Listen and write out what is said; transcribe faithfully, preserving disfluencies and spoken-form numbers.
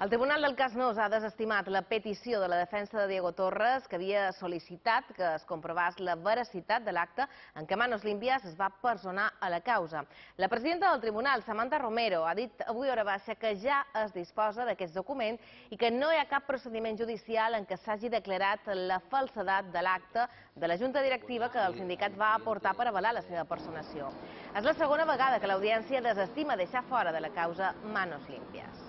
El Tribunal del Cas Nos ha desestimat la petició de la defensa de Diego Torres, que havia sol·licitat que es comprovés la veracitat de l'acte en què Manos Limpias es va personar a la causa. La presidenta del Tribunal, Samantha Romero, ha dit avui a hora baixa que ja es disposa d'aquest document i que no hi ha cap procediment judicial en què s'hagi declarat la falsedat de l'acte de la Junta Directiva que el sindicat va aportar per avalar la seva personació. És la segona vegada que l'Audiència desestima deixar fora de la causa Manos Limpias.